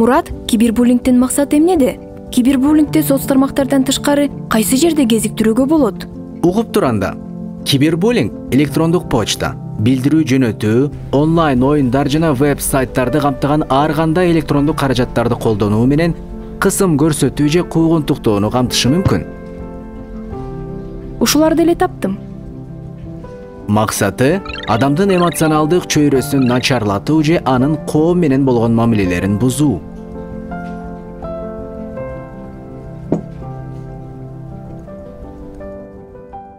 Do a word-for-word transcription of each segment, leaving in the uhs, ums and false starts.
Мурат, кибербуллингдин максаты эмнеде? Кибербуллингде соц тармактардан тышкары кайсы жерде кезиктирүүгө болот? Угуп турганда, кибербуллинг электрондук почта, билдирүү жөнөтүү, онлайн оюндар жана веб-сайттарды камтыган ар кандай электрондук каражаттарды колдонуу менен кысым көрсөтүү же куугунтуктоону камтышы мүмкүн. Ушуларды эле таптым. Максаты адамдын эмоционалдык чөйрөсүн начарлатуу же анын коом менен болгон мамилелерин бузуу.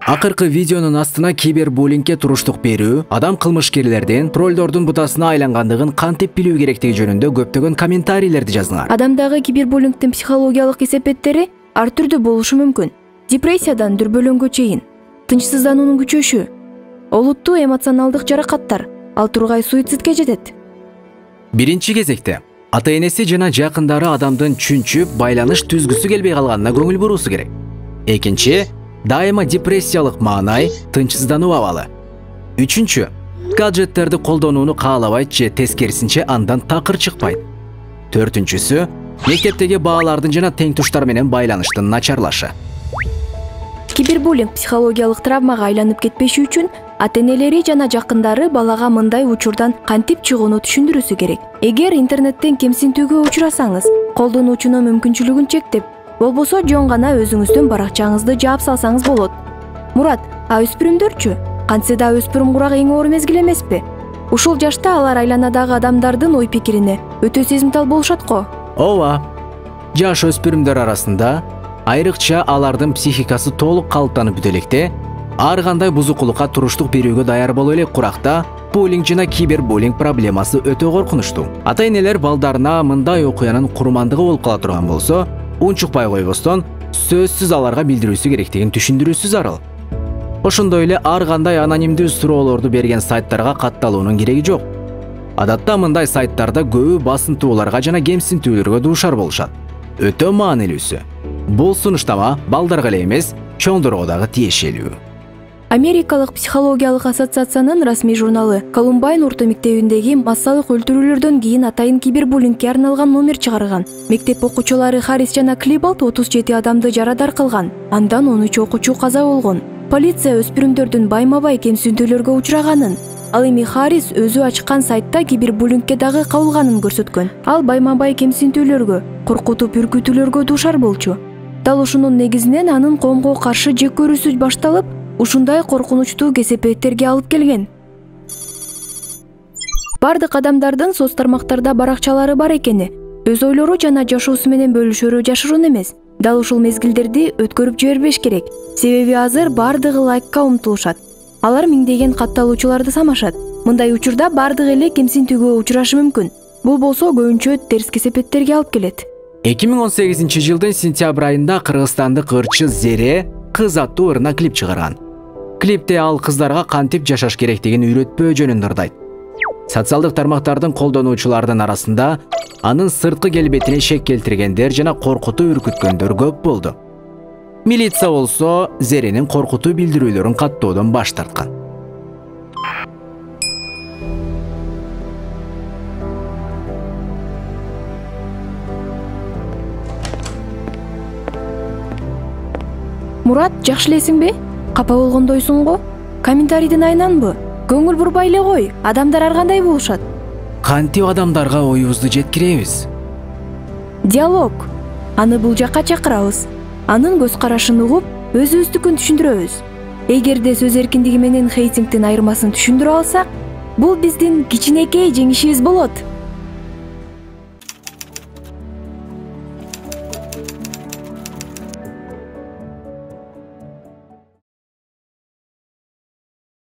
Акыркы видеонун астына кибербуллингге туруштук берүү, адам кылмышкерлердин троллдордун бутасына айлангандыгын кантип билүү керектиги жөнүндө көптөгөн комментарийлерди жазыңар. Адамдагы кибербуллингдин психологиялык эсепеттери ар түрдүү болушу мүмкүн. Депрессиядан дүрбөлөңгө чейин, тынчсыздануунун күчөшү, олуттуу эмоционалдык жаракаттар, ал тургай суицидке жетет. Биринчи кезекте ата-энеси жана жакындары адамдын чүнчүп, байланыш түзгүсү келбей калганына көңүл буруусу керек. Экинчи, дайыма депрессиялык маанай, тынчсыздануу абалы. Үчүнчү, гаджеттерди колдонууну каалабайт же тескерисинче андан такыр чыкпайт. Төртүнчүсү, мектептеги баалардын жана тең туштар менен байланыштын начарлашы. Кибербуллинг психологиялык травмага айланып кетпеши үчүн ата-энелери жана жакындары балага мындай учурдан кантип чыгууну түшүндүрүүсү керек. Эгер интернеттен кемсинтүүгө учурасаңыз, колдонуучунун мүмкүнчүлүгүн чектеп, болбосо жөн гана өзүңүздүн баракчаңызды жаап салсаңыз болот. Мурат, а өспүрүмдөрчү? Кантсе да өспүрүм курак эң оор мезгил эмеспи? Ушул жашта алар айланадагы адамдардын ой пикирине өтө сезимтал болушат го. Ооба. Жаш өспүрүмдөр арасында айрыкча алардын психикасы толук калыптанып бүтө электе, ар кандай бузукулукка туруштук берүүгө даяр боло элек куракта буллинг жана кибербуллинг проблемасы өтө коркунучтуу. Ата-энелер балдарына мындай окуянын курмандыгы болуп кала турган болсо, унчукпай койбостон сөзсүз аларга билдирүүсү керектигин түшүндүрүүсү зарыл. Ошондой эле ар кандай анонимдүү суроолорду берген сайттарга катталуунун кереги жок. Адатта мындай сайттарда көбү басынтууларга жана кемсинтүүлөргө дуушар болушат. Өтө маанилүүсү, бул сунуштама балдарга эле эмес, чоңдорго дагы тиешелүү. Америкалык психологиялык ассоциациянын расмий журналы Колумбайн орто мектебиндеги массалык өлтүрүүлөрдөн кийин атайын кибербуллингге арналган номер чыгарган. Мектеп окуучулары Харрис жана Клибалт отуз жети адамды жарадар кылган. Андан он үч окуучу каза болгон. Полиция өспүрүмдөрдүн байма-бай кемсинтүүлөргө учураганын, ал эми Харрис өзү ачкан сайтта кибербуллингге дагы кабылганын көрсөткөн. Ал байма-бай кемсинтүүлөргө, коркутуп үркүтүүлөргө дуушар болчу. Дал ушунун негизинен анын коомго каршы жек көрүүсү башталып, ушундай коркунучтуу кесепеттерге алып келген. Бардык адамдардын соц тармактарда баракчалары бар экени, өз ойлору жана жашоосу менен бөлүшөрү жашыруун эмес. Дал ушул мезгилдерди өткөрүп жибербеш керек. Себеби азыр бардыгы лайкка умтулушат. Алар миңдеген катталуучуларды самашат. Мындай учурда бардыгы эле кемсинтүүгө учурашы мүмкүн. Бул болсо көбүнчө терс кесепеттерге алып келет. эки миң он сегизинчи жылдын сентябрь айында кыргызстандык ырчы Зере кыз аттуу ырына клип чыгарган. Клипте ал кыздарга кантип жашаш керектигин үйрөтпөө жөнүндө ырдайт. Социалдык тармактардын колдонуучулардын арасында анын сырткы келбетине шек келтиргендер жана коркутуу үркүткөндөр көп болду. Милиция болсо Зеренин коркутуу билдирүүлөрүн каттоодон баш тарткан. Мурат, жакшы элесиңби? Капа болгондойсуң го? Комментарийден айнанбы? Көңүл бурбай эле кой, адамдар ар кандай болушат. Кантип адамдарга оюбузду жеткиребиз? Диалог. Аны бул жакка чакырабыз. Анын көз карашын угуп, өзүбүздүкүн түшүндүрөбүз. Эгерде сөз эркиндиги менен хейтингдин айырмасын түшүндүрө алсак, бул биздин кичинекей жеңишибиз болот.